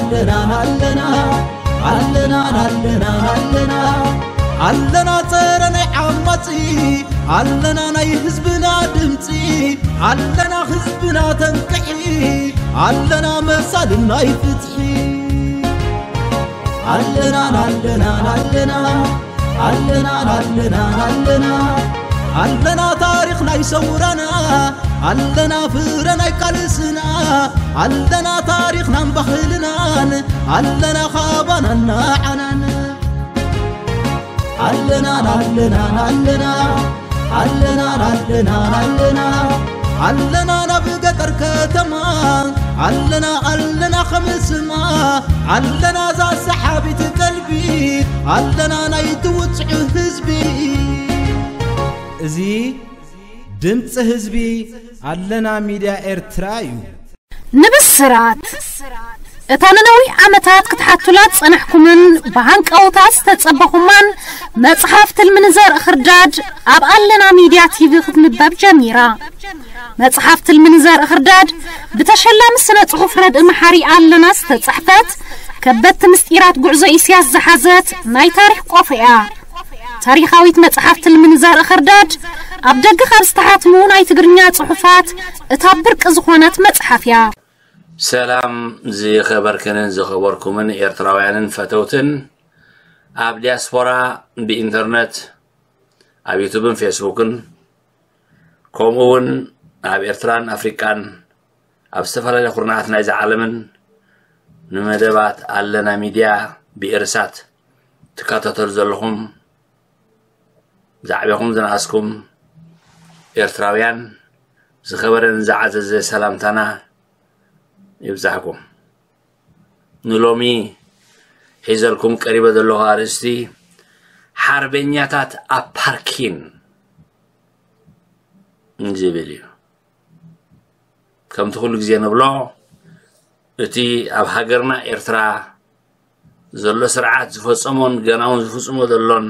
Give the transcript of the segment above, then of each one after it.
ኣለና ኣለና ኣለና ኣለና ኣለና ኣለና ጸረ ናይ ዓማጺ ኣለና ናይ ህዝብና ድምጺ ኣለና ህዝብና ተንቅሒ ኣለና መሳልን ናይ ፍትሒ ኣለና ኣለና ኣለና ኣለና ኣለና ኣለና ኣለና ታሪኽ ናይ ሰውራና ኣለና ፍረ ናይ ቃልስና ኣለና ታሪኽናን ባህልናን ኣለና ካባናን ንዓናን ኣለና ኣለና ኣለና ኣለና ኣለና ኣለና ኣለና ናብ ገጠር ከተማ ኣለና ኣለና ከምስማ ኣለና ዛ ሰሓቢት ቀልቢ ኣለና ናይ ትውፅዑ ህዝቢ እዚ ድምፂ ህዝቢ ኣለና ሚድያ ኤርትራ እዩ። ንብስራት እታ ንነዊሕ ዓመታት ክትሓቱላ ዝጸናሕኩምን ብሃንቀውታ ዝተጸበኹማን መጽሓፍ ትልሚ ንዘርኢ ኽርዳድ ኣብ ኣለና ሚድያ ቲቪ ክትንበብ ጀሚራ። መጽሓፍ ትልሚ ንዘርኢ ኽርዳድ ብተሸላሚ ስነ ጽሑፍ ረድኢ መሓሪ ኣለና ዝተጻሕፈት ከበድቲ ምስጢራት ጉዕዞ ኢስያስ ዝሓዘት ናይ ታሪኽ ቆፎ እያ። ታሪኻዊት መጽሓፍ ትልሚ ንዘርኢ ኽርዳድ ኣብ ደገ ካብ ዝተሓትሙ ናይ ትግርኛ ጽሑፋት እታ ብርቂ ዝኾነት መጽሓፍ እያ። ሰላም ዝኸበርክንን ዝኸበርኩምን ኤርትራውያንን ፈተውትን ኣብ ዲያስፖራ ብኢንተርነት ኣብ ዩቱብን ፌስቡክን ከምኡ እውን ኣብ ኤርትራን ኣፍሪቃን ኣብ ዝተፈላለየ ኩርናዓት ናይዚ ዓለምን ንመደባት ኣለና ሚድያ ብኤርሳት ትከታተሉ ዘለኹም ዝዓበኹም ዝነኣስኩም ኤርትራውያን ዝኸበረን ዝዓዘዘ ሰላምታና ይብዛሕኩም። ንሎሚ ሒዘልኩም ቀሪበ ዘለኹ ኣርእስቲ ሓርበኛታት ኣብ ፓርኪን ዝብል እዩ። ከምቲ ኩሉ ግዜ ንብሎ እቲ ኣብ ሃገርና ኤርትራ ዘሎ ስርዓት ዝፈጸሞን ገና እውን ዝፍጽሞ ዘሎን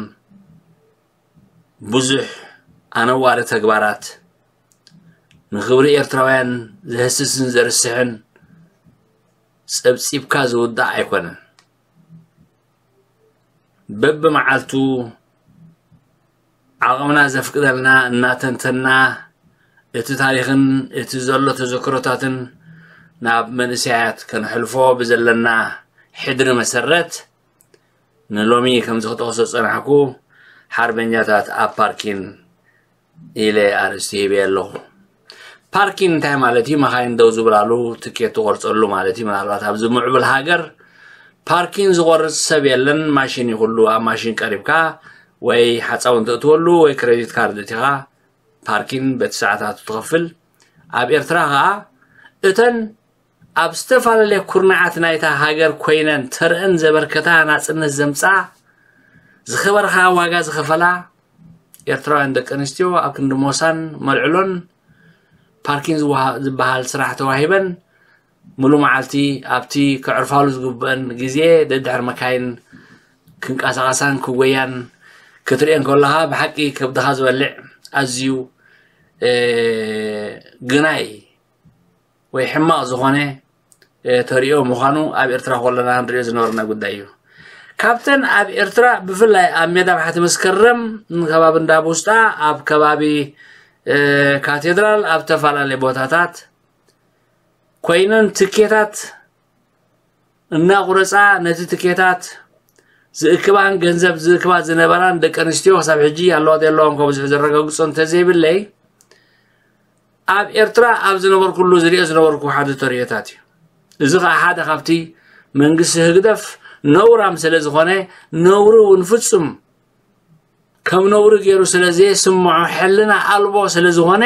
ብዙሕ ኣነዋሪ ተግባራት ንኽብሪ ኤርትራውያን ዘህስስን ዘርስሕን ጸብጺብካ ዝውዳእ ኣይኮነን። በብመዓልቱ ዓቕምና ዘፍቅደልና እናተንተና እቲ ታሪኽን እቲ ዘሎ ተዘክሮታትን ናብ መንእሰያት ከነሕልፎ ብዘለና ሕድሪ መሰረት ንሎሚ ከምዚ ክጠቕሶ ዝጸናሕኩ ሓርበኛታት ኣብ ፓርኪን ኢለ ኣርእስቲ ሂበ ኣለኹ። ፓርኪን እንታይ ማለት እዩ? መኻይን ደው ዝብላሉ ትኬት ትቆርፀሉ ማለት እዩ። ምናልባት ኣብዚ ምዕቡል ሃገር ፓርኪን ዝቆርፅ ሰብ የለን። ማሽን ይኹሉ ኣብ ማሽን ቀሪብካ ወይ ሓፃውን ተእትወሉ ወይ ክሬዲት ካርድ እቲኻ ፓርኪን በቲ ሰዓታቱ ትኸፍል። ኣብ ኤርትራ ኸዓ እተን ኣብ ዝተፈላለየ ኩርናዓት ናይታ ሃገር ኮይነን ተርአን ዘበርከታ ናጽነት ዘምጽኣ ዝኸበርኻ ዋጋ ዝኸፈላ ኤርትራውያን ደቂ ኣንስትዮ ኣብ ክንዲ ሞሳን መልዕሎን ፓርኪን ዝበሃል ስራሕ ተዋሂበን ምሉ መዓልቲ ኣብቲ ከዕርፋሉ ዝግብአን ግዜ ደድሕሪ መካይን ክንቀሳቐሳን ክጎያን ክትርእየን ከለኻ ብሓቂ ከብድኻ ዝበልዕ ኣዝዩ ግናይ ወይ ሕማቕ ዝኾነ ተሪኦ ምዃኑ ኣብ ኤርትራ ከለና ንሪኦ ዝነበርና ጉዳይ እዩ። ካብተን ኣብ ኤርትራ ብፍላይ ኣብ ሜዳ ባሕቲ መስከረም ከባቢ እንዳ ቡስጣ ኣብ ከባቢ ካቴድራል ኣብ ተፈላለየ ቦታታት ኮይነን ትኬታት እናቑረፃ ነቲ ትኬታት ዝእክባን ገንዘብ ዝእክባ ዝነበራን ደቂ ኣንስትዮ ክሳብ ሕጂ ኣለዋ የለዋን ከብዝሑ ዘረጋግፆ እንተዘይብለይ ኣብ ኤርትራ ኣብ ዝነበርኩሉ ዝሪኦ ዝነበርኩ ሓደ ተርእዮታት እዩ። እዚ ከዓ ሓደ ካብቲ መንግስቲ ህግደፍ ነውራም ስለ ዝኾነ ነውሪ እውን ፍጹም ከም ነውሪ ገይሩ ስለ ዘየስምዖ ሕልና ኣልቦ ስለ ዝኾነ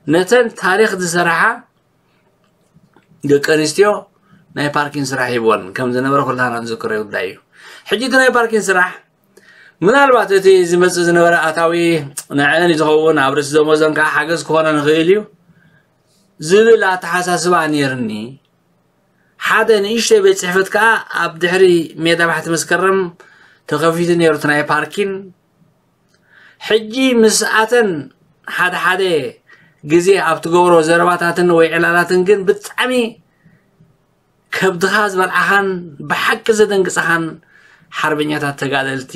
ነተን ታሪኽ ዝሰረሓ ደቂ ኣንስትዮ ናይ ፓርኪን ስራሕ ሂብወን ከም ዝነበረ ኩላና ንዝክሮ ጉዳይ እዩ። ሕጂ እቲ ናይ ፓርኪን ስራሕ ምናልባት እቲ ዝመፅእ ዝነበረ ኣታዊ ንዐን ዝኸውን ኣብ ርእሲ ደሞዘን ከዓ ሓገዝ ክኾነ ንኽእል እዩ ዝብል ኣተሓሳስባ ነይርኒ። ሓደ ንእሽተይ ቤት ፅሕፈት ከዓ ኣብ ድሕሪ ሜዳ ባሕቲ መስከረም ተኸፊቱ ነይሩ እቲ ናይ ፓርኪን። ሕጂ ምስኣተን ሓደ ሓደ ግዜ ኣብ ትገብሮ ዘረባታትን ወይ ዕላላትን ግን ብጣዕሚ ከብድኻ ዝበልዓኻን ብሓቂ ዘደንግጸኻን ሓርበኛታት ተጋደልቲ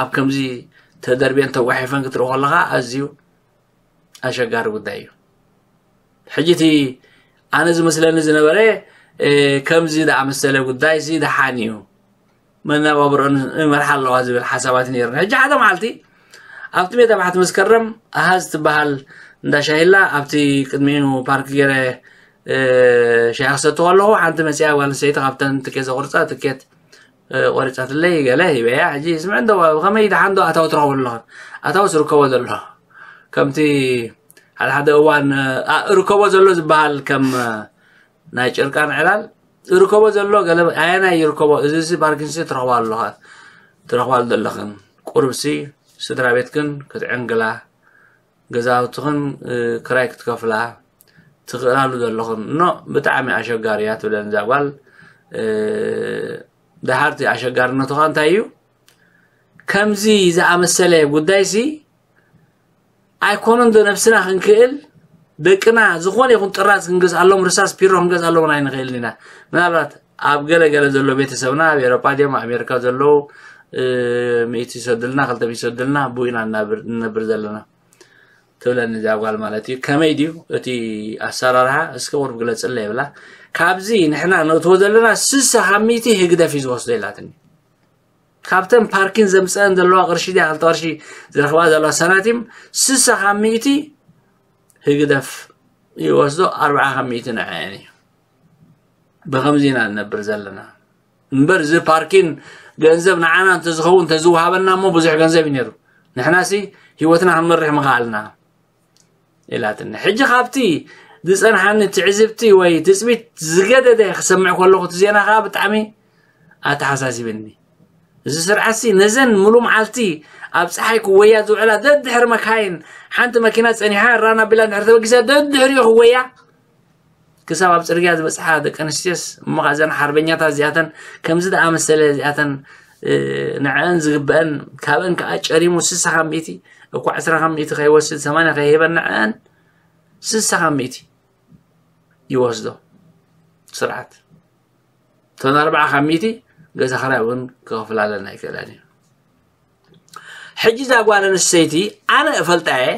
ኣብ ከምዚ ተደርብየን ተጓሒፈን ክትርኢ ከለኻ ኣዝዩ ኣሸጋሪ ጉዳይ እዩ። ሕጂ እቲ ኣነ ዝመስለኒ ዝነበረ ከምዚ ዝኣመሰለ ጉዳይ ሲ ደሓን እዩ፣ መነባብሮን ይመርሓ ኣለዋ ዝብል ሓሳባት ነይሩ። ሕጂ ሓደ መዓልቲ ኣብቲ ሜዳ ባሕቲ መስከረም ኣሃዝ ትበሃል እንዳ ሻሂላ ኣብቲ ቅድሚኡ ፓርክ ገይረ ሻሂ ክሰትኹ ኣለኹ። ሓንቲ መፅያ ጓል ኣንስተይቲ ካብተን ትኬት ዘቑርፃ ትኬት ቆሪፃትለይ ገለ ሂበያ። ሕጂ ስምዕ እንዶ ብኸመይ ደሓን ዶ ኣታዊ ትረኽቡ ኣለኹም? ኣታዊ ዝርከቦ ዘሎ ከምቲ ሓደ ሓደ እዋን ርከቦ ዘሎ ዝበሃል ከም ናይ ጨርቃን ዕላል ርከቦ ዘሎ ገለ ኣየናይ ይርከቦ? እዚ ሲ ፓርኪንሲ ትረኽባ ኣለኻ፣ ትረኽባሉ ዘለኽን ቁርብሲ ስድራ ቤትክን ክትዕንግላ ገዛውትኽን ክራይ ክትከፍላ ትኽእላሉ ዘለኽን ኖ ብጣዕሚ ኣሸጋሪ እያ ትብለን እዛ ጓል። ደሓርቲ ኣሸጋርነቱ ኸ እንታይ እዩ? ከምዚ ዝኣመሰለ ጉዳይሲ ኣይኮነን ዶ ነብስና ክንክእል ደቅና ዝኾነ ይኹን ጥራዝ ክንገዝኣሎም ርሳስ ፒሮ ክንገዝኣሎም ኣይንኽእልን ኢና። ምናልባት ኣብ ገለ ገለ ዘሎ ቤተሰብና ኣብ ኤሮፓ ድዮም ኣሜሪካ ዘለዉ ሚእቲ ይሰዱልና ክልተ ሚእቲ ይሰዱልና ብኡ ኢና ንነብር ዘለና ትብለኒ እዚኣ ጓል ማለት እዩ። ከመይ ድዩ እቲ ኣሰራርሓ እስከ ቁርብ ግለፅለይ ይብላ። ካብዚ ንሕና ነእትዎ ዘለና ስሳ ካብ ሚእቲ ህግደፍ እዩ ዝወስዶ ኢላትኒ። ካብተን ፓርኪን ዘምፀአን ዘለዋ ቅርሺ ድያ ክልተ ቅርሺ ዝረኽባ ዘለዋ ሰናቲም ስሳ ካብ ሚእቲ ህግደፍ ይወስዶ ኣርብዓ ካብ ሚእቲ ንዐአን እዩ። ብኸምዚ ኢና ንነብር ዘለና እምበር እዚ ፓርኪን ገንዘብ ንዓና እንተዝኸውን እንተዝወሃበና እሞ ብዙሕ ገንዘብ እዩ ነይሩ። ንሕናሲ ህይወትና ክንመርሕ ምኸኣልና ኢላትኒ። ሕጂ ካብቲ ዝፀንሓኒ ትዕዝብቲ ወይ ትፅቢት ዝገደደ ክሰምዕ ከለኹ እቲ ዜና ከዓ ብጣዕሚ ኣተሓሳሲብኒ። እዚ ስርዓትሲ ነዘን ሙሉ መዓልቲ ኣብ ፀሓይ ክወያ ዝውዕላ ደድሕሪ መካይን ሓንቲ መኪና ፀኒሓ ራና ቢላ እንድሕር ተበጊሳ ደድሕሪኡ ክወያ ክሳብ ኣብ ፅርግያ ዝበፅሓ ደቂ ኣንስትዮስ እሞ ከዓ እዘን ሓርበኛታት እዚኣተን ከምዚ ደኣ መሰለ እዚኣተን ንዐአን ዝግበአን ካብአን ከዓ ጨሪሙ ስሳ ካብ ሚእቲ እኳ ዕስራ ካብ ሚእቲ ከይወስድ ሰማንያ ከይህበን ንዐአን ስሳ ካብ ሚእቲ ይወስዶ ስርዓት። እተን ኣርብዓ ካብ ሚእቲ ገዛ ክራይ እውን ክኸፍላለን ኣይክእለን እዩ። ሕጂ እዛ ጓል ኣንስተይቲ ኣነ እፈልጣ እየ።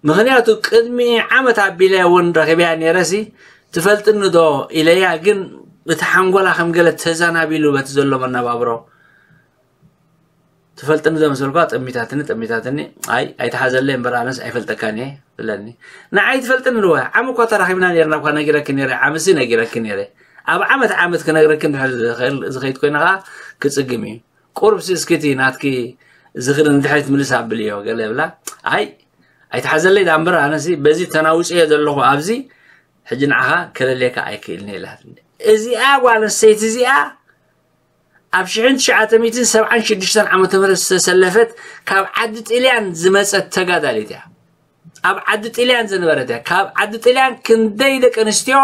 ምኽንያቱ ቅድሚ ዓመት ኣቢለ እውን ረኺበያ ነይረሲ ትፈልጥኒ ዶ ኢለያ፣ ግን እቲ ሓንጎላ ከም ገለ ተዛናቢሉ በቲ ዘሎ መነባብሮ ትፈልጥኒ ዶ መሰልኳ ጠሚታትኒ ጠሚታትኒ። ኣይ ኣይትሓዘለይ እምበር ኣነስ ኣይፈልጠካን እየ ትብለኒ። ንዓይ ትፈልጥኒ ዶ ዓም እኳ ተራኺብና ነርና እኳ ነጊረኪ ነረ ዓምሲ ነጊረኪ ነረ ኣብ ዓመት ዓመት ክነግረኪ እንድሕር ዝኸይድ ኮይነ ከዓ ክፅግም እዩ። ቁርብ እስኪ እቲ ናትኪ ዝኽሪ ንድሕሪት ምልስ ኣብልዮ ገለ ብላ። ኣይ ኣይትሓዘለይ ዳ እምበር ኣነሲ በዚ ተናውፅዮ ዘለኹ ኣብዚ ሕጂ ንዓኻ ከለልየካ ኣይክእልን ኢላትኒ። እዚኣ ጓል ኣንስተይቲ እዚኣ ኣብ ሽሕን ትሽዓተ ሚእትን ሰብዓን ሽዱሽተን ዓመተ ምህረት ዝተሰለፈት ካብ ዓዲ ጥልያን ዝመፀት ተጋዳሊት እያ። ኣብ ዓዲ ጥልያን ዝነበረት እያ። ካብ ዓዲ ጥልያን ክንደይ ደቂ ኣንስትዮ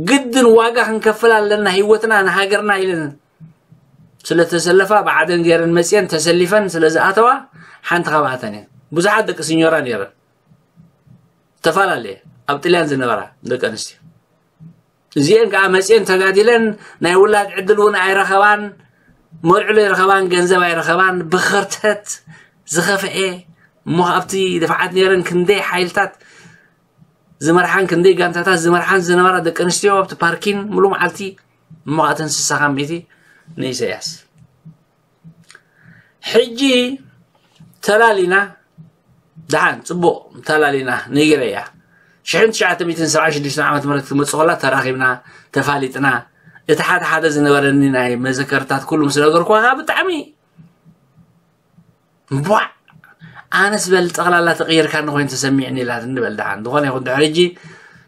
ግድን ዋጋ ክንከፍል ኣለና ህይወትና ንሃገርና ኢለን ስለተሰለፋ ብዓደን ገይረን መፅየን ተሰሊፈን ስለዝኣተዋ ሓንቲ ካብኣተን እየን። ብዙሓት ደቂ ስኞራ ነይረን ዝተፈላለየ ኣብ ጥልያን ዝነበራ ደቂ ኣንስትዮ እዚአን ከዓ መፅየን ተጋዲለን ናይ ውላድ ዕድል እውን ኣይረኸባን፣ መርዕሎ ኣይረኸባን፣ ገንዘብ ኣይረኸባን፣ ብኸርተት ዝኸፍኤ እሞ ኣብቲ ድፍዓት ነይረን ክንደይ ሓይልታት ዝመርሓን ክንደይ ጋንታታት ዝመርሓን ዝነበራ ደቂ ኣንስትዮ ኣብቲ ፓርኪን ሙሉ መዓልቲ እሞ ኣተን ስሳ ካብ ሚእቲ ንኢሰያስ ሕጂ ተላሊና ደሓን ፅቡቕ ተላሊና ነጊረያ ሽሕን ትሽዓተ ሚእትን ሰብዓን ሽዱሽተን ዓመት ምህረት ትመፅእ ከላ ተራኺብና ተፋሊጥና እቲ ሓደ ሓደ ዝነበረኒ ናይ መዘከርታት ኩሉ ምስ ነገርኩዋ ከዓ ብጣዕሚ ቧዕ ኣነስ በል ጠቕላላ ተቐይርካ ንኮይን ተሰሚዕኒ ኢላት እንበል ደሓን ዝኾነ ይኹን ድሕሪ ሕጂ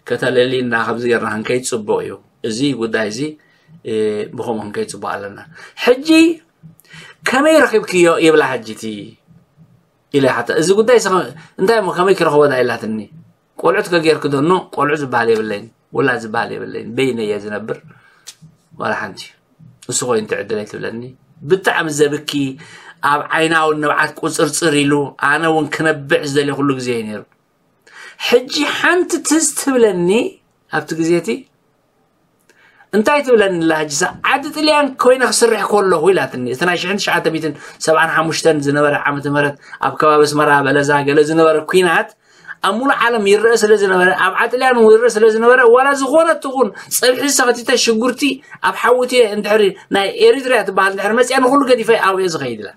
ከተለሊና ከምዚ ጌርና ክንከይድ ፅቡቕ እዩ እዚ ጉዳይ እዚ ብኸምኡ ክንከይድ ፅቡቕ ኣለና ሕጂ ከመይ ረኺብክዮ ይብላ ሕጂ እቲ ኢለ ሓታ እዚ ጉዳይ እንታይ እሞ ከመይ ክረኽቦ ዳ ኢላትኒ ቆልዑት ከጌርክ ዶ ኖ ቆልዑ ዝበሃል የብለይን ውላድ ዝበሃል የብለይን በይነ እየ ዝነብር ዋላ ሓንቲ እሱ ኮይኑ ትዕድለይ ትብለኒ ብጣዕሚ ዘብኪ ኣብ ዓይናውን ንብዓት ቁፅርፅር ኢሉ ኣነ እውን ክነብዕ ዝደልየ ኩሉ ግዜ እዩ ነይሩ ሕጂ ሓንቲ ትዝ ትብለኒ ኣብቲ ግዜ እቲ እንታይ ትብለኒ ኣላ ሕጂ? ዓዲ ጥልያን ኮይነ ክስርሕ ከለኹ ኢላትኒ። እቲ ናይ ሽሕን ትሽዓተ ሚእትን ሰብዓን ሓሙሽተን ዝነበረ ዓመተ ምህረት ኣብ ከባቢ ኣስመራ በለዛ ገለ ዝነበረ ኲናት ኣብ ሙሉእ ዓለም ይረአ ስለ ዝነበረ፣ ኣብ ዓጥልያን እውን ይረአ ስለ ዝነበረ፣ ዋላ ዝኾነ ትኹን ጸብሒ ሰኸቲተ ሽጉርቲ ኣብ ሓውቲ እንድሕሪ ናይ ኤሪትሪያ ትበሃል እንድሕሪ መጽያ ንኹሉ ገዲፈ ኣብየ ዝኸይድ ኢላ።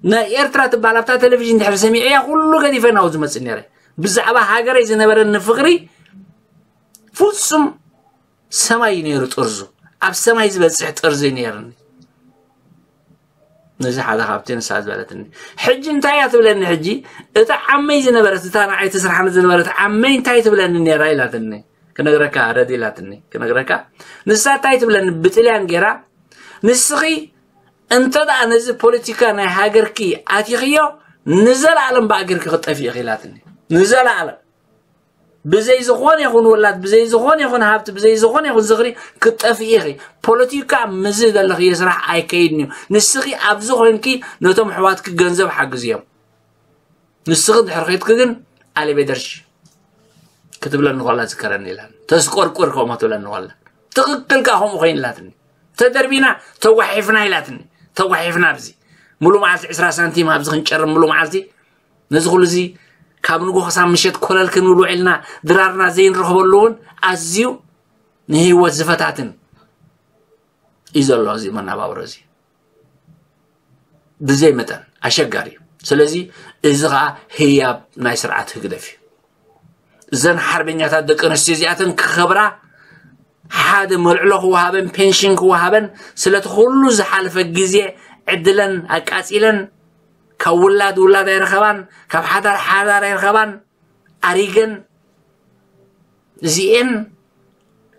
ናይ ኤርትራ ትበሃል ኣብታ ቴሌቪዥን ድሕሪ ሰሚዐያ ኩሉ ገዲፈ ናው ዝመጽእ ነይረ። ብዛዕባ ሃገረይ ዝነበረኒ ፍቕሪ ፍጹም ሰማይ እዩ ነይሩ ጥርዙ። ኣብ ሰማይ ዝበጽሕ ጥርዚ እዩ ነይርኒ። ነዚ ሓደ ካብቲ ንሳ ዝበለትኒ። ሕጂ እንታይ እያ ትብለኒ? ሕጂ እታ ዓመይ ዝነበረት፣ እታ ንዓይ ትስርሓኒ ዝነበረት ዓመይ እንታይ ትብለኒ ነይራ ኢላትኒ። ክነግረካ ረድ ኢላትኒ። ክነግረካ ንሳ እንታይ ትብለኒ? ብጥልያን ገይራ፣ ንስኺ እንተ ደኣ ነዚ ፖለቲካ ናይ ሃገርኪ ኣቲኽዮ፣ ንዘለኣለም ብኣገርኪ ክትጠፊ ኢኺ ኢላትኒ። ንዘለኣለም። ብዘይ ዝኾነ ይኹን ውላድ፣ ብዘይ ዝኾነ ይኹን ሃብቲ፣ ብዘይ ዝኾነ ይኹን ዝኽሪ ክትጠፍኢ ኢኺ። ፖለቲካ ምስዚ ዘለኽዮ ስራሕ ኣይከይድን እዩ። ንስኺ ኣብዚ ኮይንኪ ነቶም ኣሕዋትኪ ገንዘብ ሓግዝዮም። ንስኺ እንድሕር ከይድኪ ግን ኣሌቤደርሽ ክትብለኒ ከላ ዝከረኒ ኢላትኒ። ተስቆርቁር ከምኡ ትብለኒ ከላ። ትኽክል ከኣ ከምኡ ኮይኑ ኢላትኒ። ተደርቢና ተጓሒፍና ኢላትኒ። ተጓሒፍና ኣብዚ። ሙሉእ መዓልቲ ዕስራ ሳንቲም ኣብዚ ክንጨርም ሙሉእ መዓልቲ ነዚ ኩሉ እዚ ካብ ንጎ ክሳብ ምሸት ኮለል ክንብል ውዒልና ድራርና ዘይንረኽበሉ እውን ኣዝዩ ንህይወት ዝፈታትን እዩ ዘሎ እዚ መነባብሮ እዚ። ብዘይ መጠን ኣሸጋሪ እዩ። ስለዚ እዚ ኸዓ ህያብ ናይ ስርዓት ህግደፍ እዩ። እዘን ሓርበኛታት ደቂ ኣንስትዮ እዚኣተን ክኸብራ ሓደ መልዕሎ ክወሃበን ፔንሽን ክወሃበን ስለቲ ኩሉ ዝሓለፈ ግዜ ዕድለን ኣቃጺለን ካብ ውላድ ውላድ ኣይረኸባን፣ ካብ ሓዳር ሓዳር ኣይረኸባን፣ ኣሪገን እዚኤን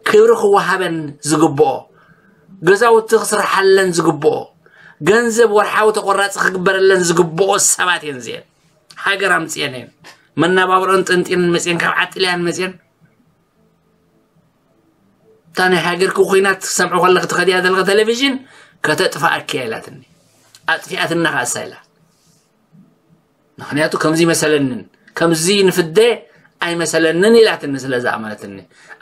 ክብሪ ክወሃበን ዝግብኦ፣ ገዛውቲ ክስርሓለን ዝግብኦ፣ ገንዘብ ወርሓዊ ተቆራፂ ክግበረለን ዝግብኦ ሰባት እየን እዚኤን። ሃገር ኣምፅኤን እየን። መናባብሮን ጥንጢንን መፅኤን ካብ ዓጥልያን መፅኤን እታ ናይ ሃገርኪ ኩናት ክሰምዑ ከለክ ትኸድያ ዘለካ ቴሌቪዥን ከተጥፋኣኪ እያ ኢላትኒ። ኣጥፊኣትና ከኣሳ ኢላ። ምክንያቱ ከምዚ መሰለንን ከምዚ ንፍደ ኣይመሰለንን ኢላትኒ ስለ ዝኣመነትኒ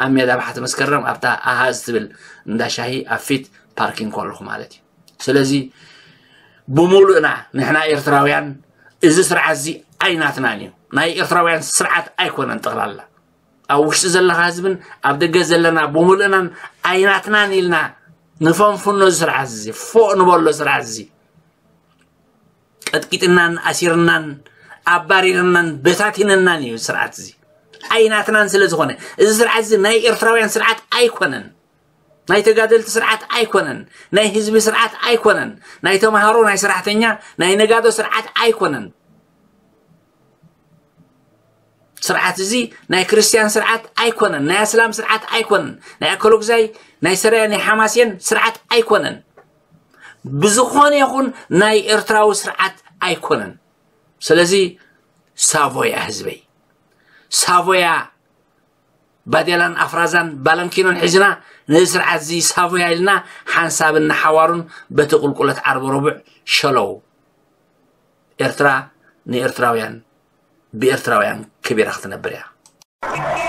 ኣብ ሜዳ ባሕቲ መስከረም ኣብታ ኣሃዝ ትብል እንዳ ሻሂ ኣብ ፊት ፓርኪንግ ከለኹ ማለት እዩ። ስለዚ ብሙሉእና ንሕና ኤርትራውያን እዚ ስርዓት እዚ ኣይናትናን እዩ። ናይ ኤርትራውያን ስርዓት ኣይኮነን። ጠቕላላ ኣብ ውሽጢ ዘለኻ ህዝብን ኣብ ደገ ዘለና ብሙሉእናን ኣይናትናን ኢልና ንፈንፍኖ እዚ ስርዓት እዚ፣ ፎእ ንበሎ ስርዓት እዚ። ቀጥቂጥናን ኣሲርናን ኣባሪርናን በታቲንናን እዩ ስርዓት እዚ። ኣይናትናን ስለ ዝኾነ እዚ ስርዓት እዚ ናይ ኤርትራውያን ስርዓት ኣይኮነን። ናይ ተጋደልቲ ስርዓት ኣይኮነን። ናይ ህዝቢ ስርዓት ኣይኮነን። ናይ ተምሃሮ፣ ናይ ሰራሕተኛ፣ ናይ ነጋዶ ስርዓት ኣይኮነን። ስርዓት እዚ ናይ ክርስትያን ስርዓት ኣይኮነን። ናይ ኣስላም ስርዓት ኣይኮነን። ናይ ኣከሎግዛይ፣ ናይ ሰራየ፣ ናይ ሓማሴን ስርዓት ኣይኮነን። ብዝኾነ ይኹን ናይ ኤርትራዊ ስርዓት ኣይኮነን። ስለዚ ሳቮያ ህዝበይ፣ ሳቮያ ባዴላን ኣፍራዛን ባለንኪኖን ሒዝና ነዚ ስርዓት እዚ ሳቮያ ኢልና ሓንሳብን ንሓዋሩን በቲ ቁልቁለት ዓርቢ ረቡዕ ሸለው። ኤርትራ ንኤርትራውያን ብኤርትራውያን ከቢራ ክትነብር እያ።